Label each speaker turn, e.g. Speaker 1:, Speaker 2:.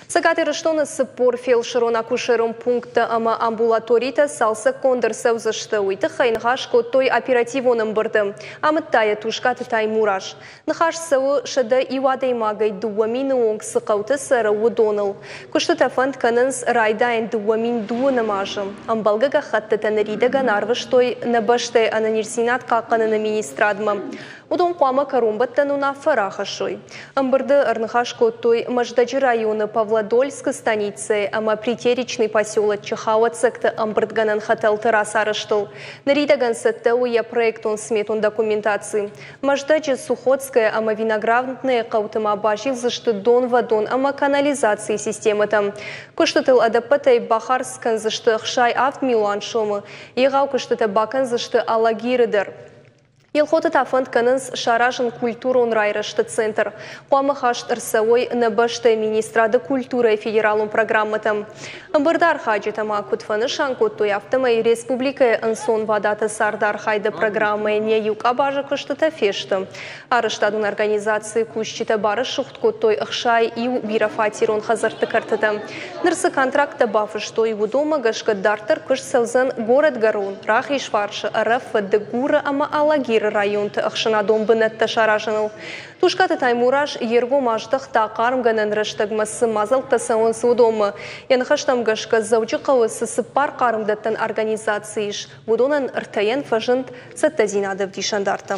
Speaker 1: Цӕгат Ирыстоны 40 фелсырон-акушерон пункттӕ ӕмӕ амбулаторитӕ цалцӕггонд ӕрцӕудзысты. Уый тыххӕй ныхас кодтой оперативон ӕмбырды. Амыдта йӕ Тускъаты Таймураз. Ныхас цӕуы, 101 адӕймагӕй 2000 онг цы хъӕуты цӕры, уыдоныл. Куыстытӕ фӕнд кӕнынц райдайын 2012 азы. Ӕмбӕлгӕ гӕххӕттытӕ ныридӕгӕн арвыстой нӕ бӕстӕйы ӕнӕниздзинад хъахъхъӕныны министрадмӕ. Уыдон хъуамӕ кӕронбӕттӕн уынаффӕ рахӕссой. Ӕмбырды ӕрныхас кодтой Мӕздӕджы районы Павлодольскы станицӕйы ӕмӕ Притеречный поселоччы хауӕццӕгты ӕмбырдгӕнӕн хӕтӕлты рацарӕзтыл. Ныридӕгӕн цӕттӕ у йӕ проектон-сметон документаци. Мӕздӕджы, Сухотское ӕмӕ Виноградное хъӕуты ма базилдзысты донвӕдон ӕмӕ канализацийы системӕтӕм. Куыстытыл ӕдӕппӕтӕй бахардз кӕндзысты 67 милуан сомы. Егъау куыстытӕ бакӕндзысты Алагиры дӕр. Елхоты та фӕнд кӕнынц саразын культурон райрӕзты центр. Хъуамӕ хаст ӕрцӕуой нӕ бӕстӕйы министрады культурӕйы федералон программӕтӕм. Ӕмбырды архайджытӕ ма куыд фӕнысан кодтой, афтӕмӕй республикӕйы ӕнцонвадаты цардархайды программӕйӕн йӕ иу къабазы куыстытӕ фесты. Арӕзтадон организацийы кусджытӕ барӕсугъд кодтой 61 бирӕфатерон хӕдзӕртты кӕртытӕ. Ныр цы контракттӕ бафыстой, уыдонмӕ гӕсгӕ дарддӕр куыст цӕудзӕн Горӕтгӕрон, Рахизфарсы, Ӕрӕфы, Дыгуры ӕмӕ Алагиры районты ӕхсӕнадон бынӕттӕ саразыныл. Тускъаты Таймураз йе ргом аздӕхта, хъармгӕнӕн рӕстӕгмӕ цы мадзӕлттӕ цӕуынц, уыдонмӕ. Йӕ ныхӕстӕм гӕсгӕ, Дзӕуджыхъӕуы цы цыппар хъармдӕттӕн организаци ис, уыдонӕн ӕртӕйӕн фӕзынд цӕттӕдзинады ӕвдисӕндартӕ.